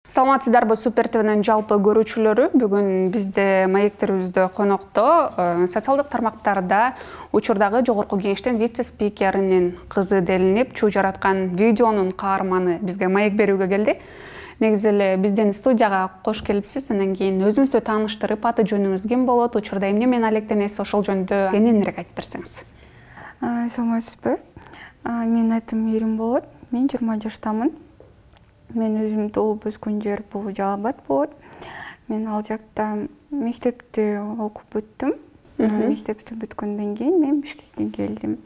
Саламатсыздарбы, Супер ТВнин жалпы көрүүчүлөрү. Бүгүн бизде маектерибизде конокто социалдык тармактарда учурдагы жогорку кеңештин вице-спикеринин кызы делинип, чуу жараткан видеонун каарманы бизге маек берүүгө келди. Негизи эле биздин студияга кош келипсиз. Андан кийин өзүңүздү тааныштырып, аты жөнүңүз ким болот, учурда эмне менен алектенесиз, ошол жөнүндө кененирээк айтып берсеңиз. Саламатсызбы? Менин атым Мээрим болот. Мен 20 жаштамын. Мен өзүм туулуп өскөн жер бул Жалал-Абад болот. Мен ал жакта мектепти окуп бүттүм. Мектепти бүткөндөн кийин мен Бишкектен келдим.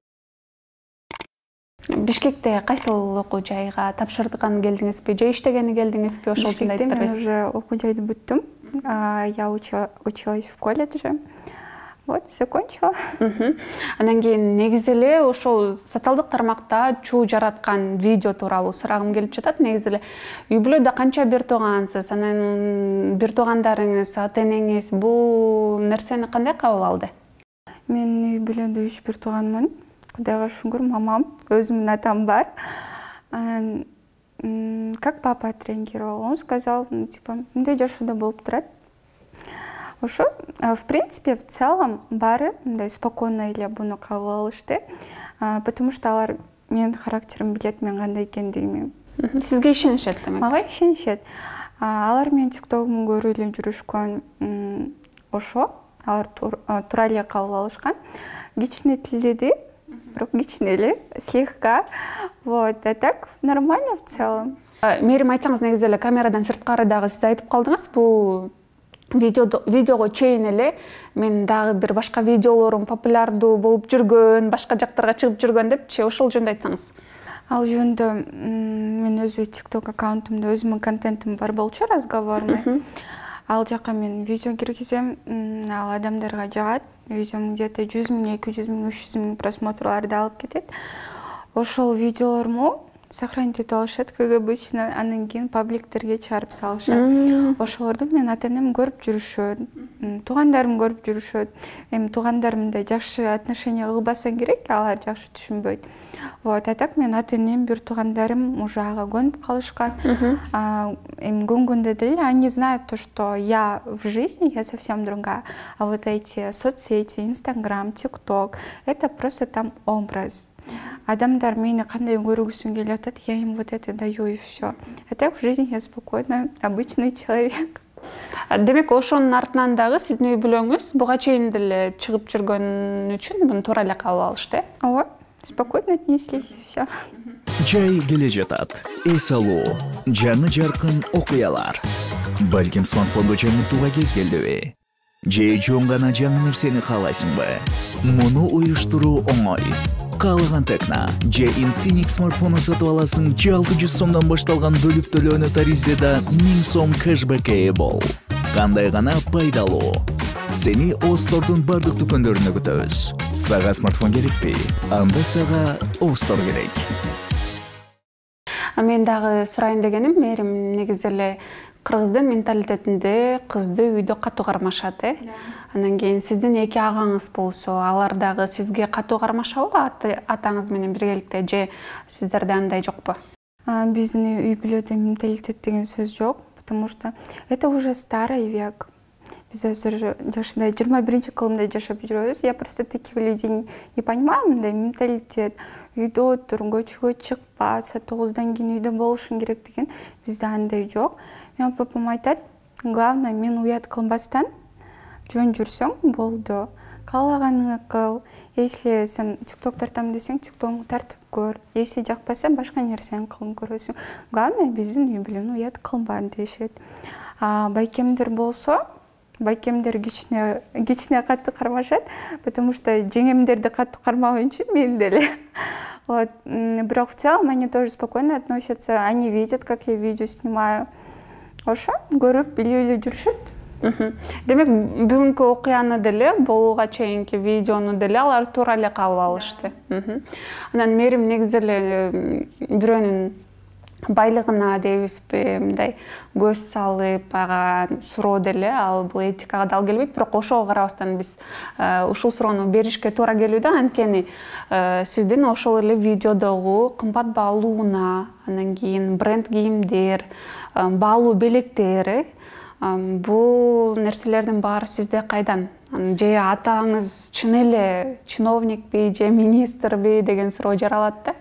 Бишкекте кайсыл окуу жайга тапшырган келдиңизби, же иштегени келдиңизби, ошол жөнүндө айтып бересизби? Мен уже окуу жайды бүттүм. Я училась в колледже. Вот, закончила. Андан кийин негизи эле ошол социалдык тармакта чуу жараткан видео тууралуу сурагым келип жатат. Негизи эле үй бүлөдө канча бир туугансыз, анан бир туугандарыңыз, ата энеңиз бул нерсени кандай кабыл алды? Мен үй бүлөдө 3 бир тууганмын. Кудайга шүгүр, мамам, өзүмдүн атам бар. Как папа отреагировал? Он сказал, типа, мындай жашоодо болуп турат. Ошо, в принципе, в целом баары мындай спокойно эле буну кабыл алышты, потому что алар менин характеримди билет, мен кандай экендигими. Сизге ишенишет демек? Мага ишенишет. Алар менин тиктогумду көрүп эле жүрүшкөн, ошо алар туура эле кабыл алышкан. Кичине тилдеди, бирок кичине эле, слегка. Вот, а так нормально в целом. Мээрим, айтсаңыз, негизи эле камерадан сырткары дагы сиз айтып калдыңыз, бул видеого чейин эле мен дагы бир башка видеолорум популярдуу болуп жүргөн, башка жактарга чыгып жүргөн депчи, ошол жөнүндө айтсаңыз. Ал жөнүндө мен өзү TikTok аккаунтумда өзүмдүн контентим бар болчу, разговорный. Ал жака мен видео киргизем, ал адамдарга жагат. Видеом где-то 100 000, 200 000, 300 000 просмотрларды алып кетет. Ошол видеолоруму сохранить этип алышат, как обычно, андан кийин пабликтерге чыгарып салышат. Ошолорду менин ата энем көрүп жүрүшөт, туугандарым көрүп жүрүшөт. Эми туугандарымда жакшы отношение кылбасаң керек, алар жакшы түшүнбөйт. Вот, а так менин ата энем, бир туугандарым уже ага көнүп калышкан. Эми көнгөндө деле они знают то, что я в жизни, я совсем другая. А вот эти соцсети, Инстаграм, ТикТок, это просто там образ. Адамдар мени кандай көргүсүн келип атат, я им вот это даю и все. А так в жизни я спокойно, обычный человек. Демек, ошонун артынан дагы сиздин үй бүлөңүз буга чейин деле чыгып жүргөн үчүн муну туура эле кабыл алышты, э? Ооба, спокойно отнеслись и все. Жай келе жатат. Эс алуу, жаңы жаркын окуялар. Балким смартфондо жаңыртууга кез келдиби? Же жөн гана жаңы нерсени каалайсыңбы? Муну уюштуруу оңой. Каалаган Текна же Infinix смартфону сатып аласың, же 600 сомдон башталган бөлүп төлөөнү таризде 1000 сом кэшбэкке ээ бол. Кандай гана пайдалуу. Сени Остордун бардык дүкөндөрүнө күтөбүз. Сага смартфон керекпи? Анда сага Остор керек. Мен дагы сурайын дегеним, Мээрим, негизи эле кыргыздын менталитетинде кызды үйдө катуу кармашат, э? Андан кийин сиздин эки агаңыз болсо, алар дагы сизге катуу кармашабы атаңыз менен биргеликте, же сиздерде андай жокпу? Биздин үй бүлөдө менталитет деген сөз жок, потому что это уже старый век. Биз азыр жашында 21-кылымда жашап жүрөбүз. Я просто таких людей не понимаю, мындай менталитет. Үйдө отур, көчкө чыкпа, саат 9-дан кийин үйдө болушуң керек деген бизде андай жок. Мен папам айтат, главное мен уят кылбастан жөн жүрсөң болду. Каалаганыңы кыл. Если сен TikTok тартам десең, TikTok'уңду тартып көр. Если жакпаса, башка нерсени кылып көрөсүң. Главное биздин үй бүлөнү уят кылба дешет. Байкемдер болсо, байкемдер кичине катты кармашат, потому что жеңемдерди катты кармаган үчүн мен деле. Вот, бирок в целом они тоже спокойно относятся, они видят, как я видео снимаю. Ошо, көрүп, билип эле жүрүшөт. Демек, бүгүнкү окуяны деле, болууга чейинки видеону деле алар туура эле кабыл алышты. Анан Мээрим, негизи эле бирөөнүн байлыгына дейбизби, мындай көз салып ага суроо деле, ал бул этикага дал келбейт, бирок ошого карабастан биз ушул суроону беришке туура келүү да, анткени сиздин ошол эле видеодогу кымбат баалууна, анан кийин бренд кийимдер, баалуу белектер, бул нерселердин баары сизде кайдан? Же атаңыз чын эле чиновникпи же министрби деген суроо жаралат да?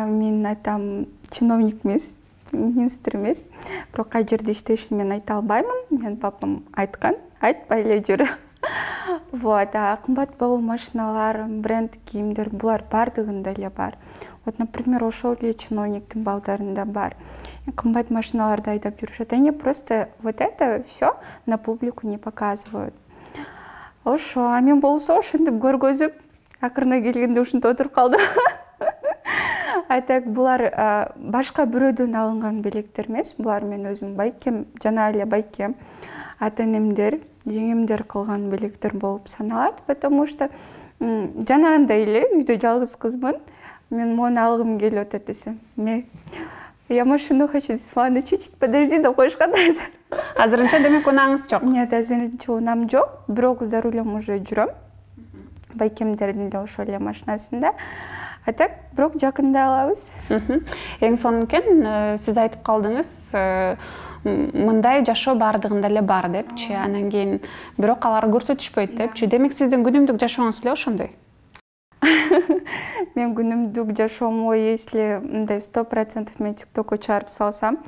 Менин атам чиновник эмес, министр эмес. Бирок кай жерде иштешин мен айта албаймын. Менин папам айткан, айтпай эле жүр. Вот, кымбат баалуу машиналар, бренд кийимдер булар бардыгында эле бар. Вот, например, ошол эле чиновниктин балдарында бар. Кымбат машиналарды айдап жүрүшөт. Они просто вот это все на публику не показывают. Ошо, мен болсо ошентип көргөзүп, акырына келгенде ушинтип отуруп калдым. Так булар башка бирөөдөн алынган белектер эмес, булар мен өзүм байкем, жана эле байкем, ата-энемдер, жеңемдер кылган белектер болуп саналат, потому что жанагындай эле үйдө жалгыз кызмын. Мен мону алгым келип атат десем, я машину хочу, маны чуть-чуть подожди деп коюшкан. Азырынча демек унааңыз жок? Нет, азырынча унам жок, бирок за рулем уже жүрөм. Байкемдердин да ошол эле машинасында. Так, бирок жакында алабыз. Эң сонун экен, сиз айтып калдыңыз, мындай жашоо бардыгында эле бар депчи, анан кийин бирок алар көрсөтүшпөйт депчи. Демек сиздин күнүмдүк жашооңуз эле ошондой? Мен күнүмдүк жашоомду, если мындай 100% мен ТикТокко чыгарып салсам,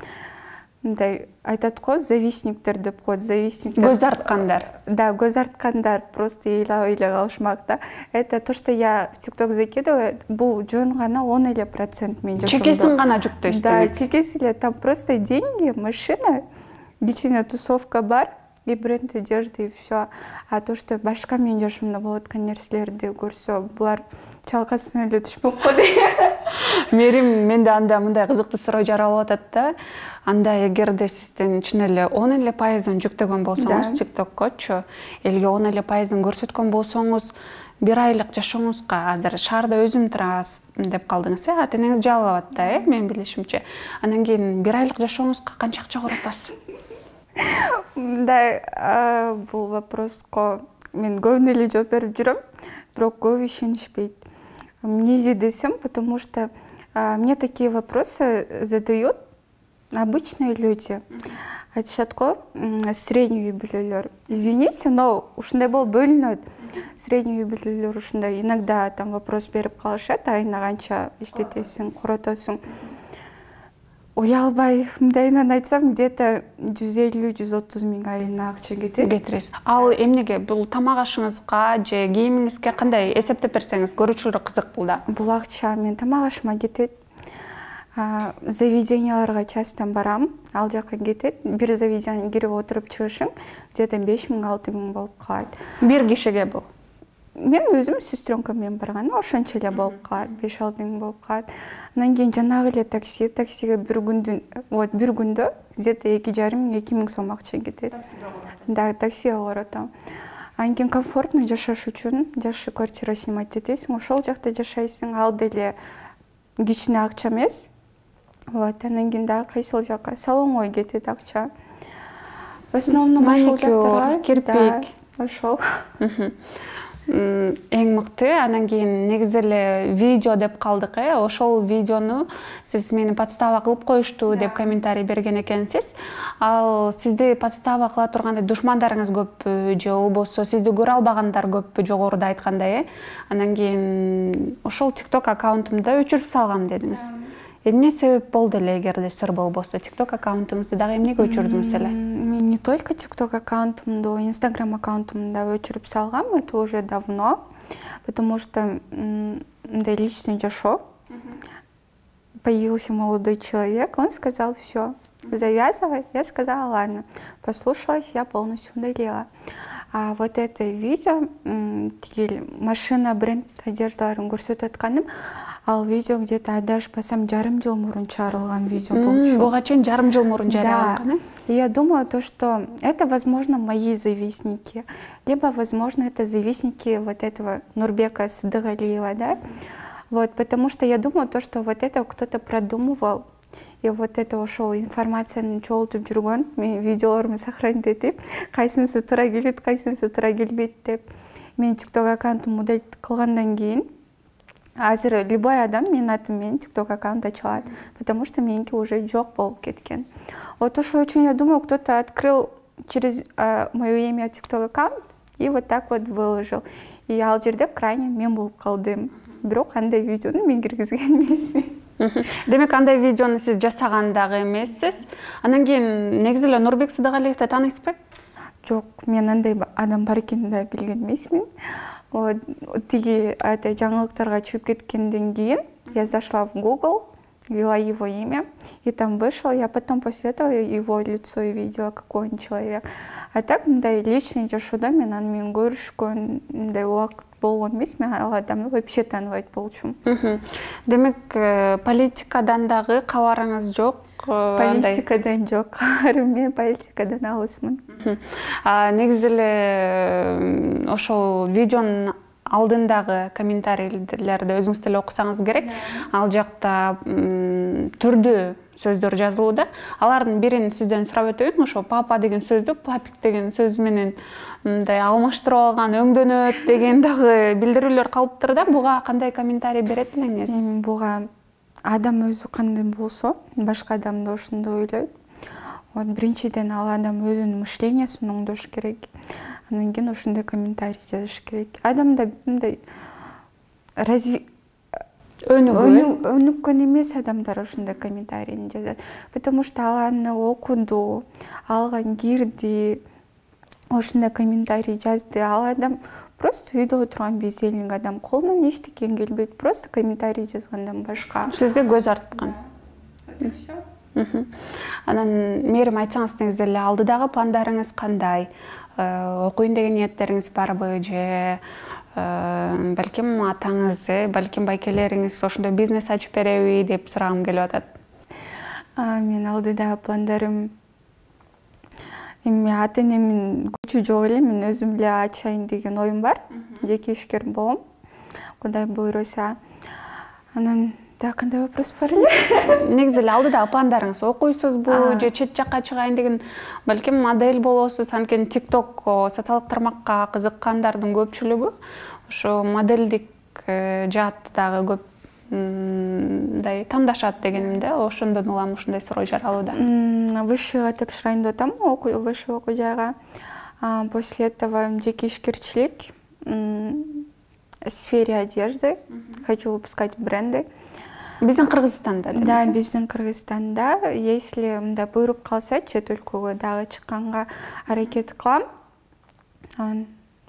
мындай айтат го, завистниктер деп коет, завистниктер. Көз арткандар. Да, көз арткандар просто ыйлап калышмак да. Это то, что я в ТикТок закидываю, бул жөн гана 10% мен жашоомдо. Чекесин гана жүктөйсүз. Да, чекеси эле, там просто деньги, машина, кичине тусовка бар, и бренд одежды, и все. А то, что башка менин жашоомдо болуп аткан нерселерди көрсө, булар чалкасына эле түшпөк го дейм. Мерим, менде анда мындай кызыктуу суроо жаралып атат да. Анда эгерде сиздин чын эле 10% жүктөгөн болсоңуз ТикТоккочу, элге 10% көрсөткөн болсоңуз, бир айлык жашооңузга азыр шаарда өзүм турабыз деп калдыңыз, ата-энеңиз жалалап атат да, мен билишимче. Анан кийин бир айлык жашооңузга канча акча коротасыз? Да, бул вопроско мен көбүнө эле жооп берип жүрөм, бирок көбү ишенишпейт. Мне десем, потому что мне такие вопросы задают обычные люди. Айтышат го, средний үй бүлөлөр. Извините, но ушундай болуп бөлүнөт. Средний үй бүлөлөр ушундай иногда там вопрос берип калышат, айына канча иштетесиң, коротосуң. Уялбай, мындайынан айтсам, где-то 150-130 миң айына акча кетет. Кетиресиз. Ал эмнеге, бул тамак ашыңызга же кийимиңизге кандай эсептеп берсеңиз көрүүчүлөр кызык бул да? Бул акча мен тамак ашыма кетет. Заведенияларга часто барам, ал жака кетет. Бир заведениеге кирип отуруп чыгышың, где-то 5 миң-6 миң болуп калат. Бир кишиге бул? Мен өзүм сестренкам менен барганда ошончо эле болуп калат, 5-6 миң болуп калат. Анан кийин жанагы эле таксиге бир күндө где-то 2,5 миң-2 миң сом акча кетет. Да, таксиге коротом. Анан кийин комфортно жашаш үчүн жакшы квартира снимать этесиң, ошол жакта жашайсың, ал деле кичине акча эмес. Вот, анан кийин дагы кайсыл жака салонго кетет акча. В основном ошол жактарга, кирпик, ошол. Эң мыкты. Анан кийин негизи эле видео деп калдык, ошол видеону сиз мени подстава кылып коюшту деп комментарий берген экенсиз. Ал сизди подстава кыла тургандай душмандарыңыз көппү же болбосо сизди көрө албагандар көппү, жогоруда айткандай, Анан кийин ошол TikTok аккаунтумда өчүрүп салгам дедиңиз. Эмне себеп болду эле, эгерде сыр болбосо? TikTok аккаунтуңузду дагы эмнеге өчүрдүңүз эле? Мен не только TikTok аккаунтумду, Instagram аккаунтумду өчүрүп салгам, это уже давно, потому что личный жашоо. Появился молодой человек, он сказал: все, завязывай. Я сказала: ладно. Послушалась, я полностью удалила. А вот это видео, машина, бренд одеждаларын көрсөтүп атканым, ал видео где-то адашпасам жарым жыл мурун чыгарылган видео болчу. Буга чейин жарым жыл мурун жарыяланган, Да. Я думаю, то, что это, возможно, мои завистники, либо, возможно, это завистники вот этого Нурбека Сыдыгалиева, да? Вот, потому что я думаю, то, что вот это кто-то продумывал И вот это ошол информацияны чогултуп жүргөн, мен видеолорумду сохранить этип, кайсынысы туура келет, кайсынысы туура келбейт деп. Мен TikTok аккаунтун модель кылгандан кийин азыр любой адам менин атым менен TikTok аккаунт ача алат, потому что меники уже жок болуп кеткен. Вот ошол үчүн я думаю, кто-то открыл через моё имя TikTok аккаунт и вот так вот выложил. И ал жерде крайне мен болуп калдым. Бирок андай видеону мен киргизген эмесмин. Демек андай видеону сиз жасаган дагы эмессиз. Андан кийин негизи эле Нурбек Сыдыгалиевди таанайсызбы? Жок, мен андай адам бар экенин да билген эмесмин. Вот тиги жаңылыктарга чыгып кеткенден кийин я зашла в Google, ввела его имя, и там вышел. Я потом после этого его лицо видела, какой он человек. А так, мындай личный жашоодо мен аны менен көрүшкөн мындай убакыт болгон эмес. Мен ал адамды вообще тааныбайт болчумун. Демек, политикадан дагы кабарыңыз жок? Политикадан жок. Мен политикадан алысмын. Негизи эле ошол видеонун алдындагы комментарийлерди өзүңүз деле окусаңыз керек. Ал жакта түрдүү сөздөр жазылууда. Алардын бирин сизден сурап өтөйүн. Ошо папа деген сөздү папик деген сөз менен мындай алмаштырып алган, өңдөнөт деген дагы билдирүүлөр калыптыр да. Буга кандай комментарий берет элеңиз? Буга адам өзү кандай болсо, башка адам да ошондой ойлойт. Вот биринчиден ал адам өзүнүн мышлениясын оңдош керек. Андан кийин ошондой комментарий жазыш керек. Адамда мындай өнүккөн эмес адамдар ошондой комментарийни жазат. Потому что ал аны окуду, алга кирди, ошондой комментарий жазды. Ал адам просто үйдө отурган бездельник адам, колунан эчтеке келбейт, просто комментарий жазгандан башка. Сизге көз арткан. Анан мээрим айтсаңыз, негизи эле алдыдагы пландарыңыз кандай? Окуйн деген ниеттериңиз барбы же балким атаңыз, балким байкелериңиз ошондой бизнес ачып береби деп сурагым келип атат. Мен алдыдагы пландарым эми ата-энемдин күчү жок эле, мен өзүм эле ачайын деген оюм бар. Жеке ишкер болом. Кудай буйруса. Анан да кандай вопрос бар эле? Негизи эле алдыдагы пландарыңыз окуйсузбу же чет жакка чыгайын деген, балким модель болосуз, анткени TikTok социалдык тармакка кызыккандардын көпчүлүгү ошо модельдик жаатты дагы көп мындай тандашат дегенимде, ошондон улам ушундай суроо жаралууда. Высшийга тапшырайын деп атам, высший окуу жайга. После этого жеке ишкерчилик, в сфере одежды, хочу выпускать бренды. Биздин Кыргызстанда? Да, биздин Кыргызстанда. Если мындай буйруп калса, чет өлкөгө дагы чыкканга аракет кылам.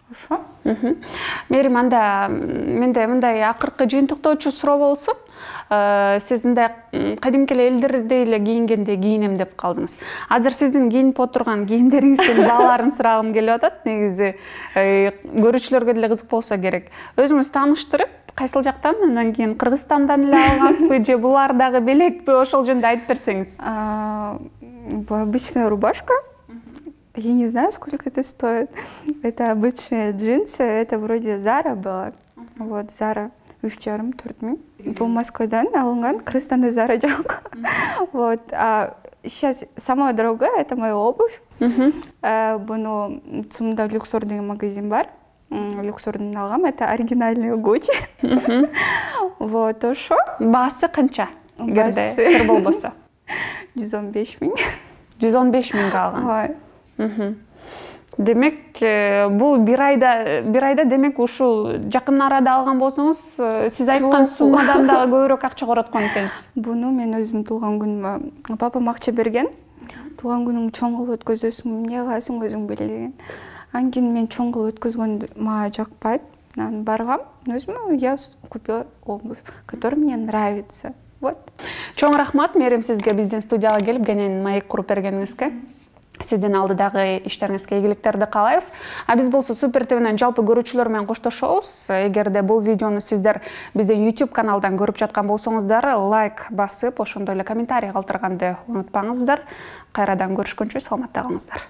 Ошо. Мээрим, анда менде мындай акыркы жыйынтыктоочу суроо болсун. Сиз мындай кадимки элдердей эле кийингенде кийинем деп калдыңыз. Азыр сиздин кийинип отурган кийимдериңиздин бааларын сурагым келип атат. Негизи көрүүчүлөргө деле кызык болсо керек. Өзүңүз тааныштырып, кайсыл жактан, андан кийин Кыргызстандан эле алгансызбы же булар дагы белекпи, ошол жөнүндө айтып берсеңиз. Обычная рубашка. Я не знаю, сколько это стоит. Это обычные джинсы. Это вроде Zara было. Вот, Zara 3,5-4 миң. Бул Москвадан алынган, Кыргызстанда Zara жок. Вот. Сейчас самое дорогое — это моя обувь. Буну Цумда Люксор деген магазин бар. Люксордун алгам. Это оригинальный Gucci. Вот, ошо. Баасы канча? Эгерде сыр болбосо. 115 миң. 115 миңге алгансыз. Демек, бул бир айда демек ушул жакын арада алган болсоңуз, сиз айткан суммадан дагы көбүрөөк акча короткон экенсиз. Буну мен өзүм туулган күнүмө папам акча берген. Туулган күнүңдү чоң кылып өткөзөсүң, эмне кыласың өзүң бил деген. Андан кийин мен чоң кылып өткөзгөндү мага жакпайт. Анан баргам, өзүмө я купила обувь, которая мне нравится. Вот. Чоң рахмат Мээрим сизге биздин студияга келип кенен маек куруп бергениңизге. Сиздин алдыдагы иштериңизге ийгиликтерди каалайбыз. Биз болсо Супер ТВнин жалпы көрүүчүлөр менен коштошобуз. Эгерде бул видеону сиздер биздин YouTube каналдан көрүп жаткан болсоңуздар, лайк басып, ошондой эле комментарий калтырганды унутпаңыздар. Кайрадан көрүшкөнчө саламатта калыңыздар.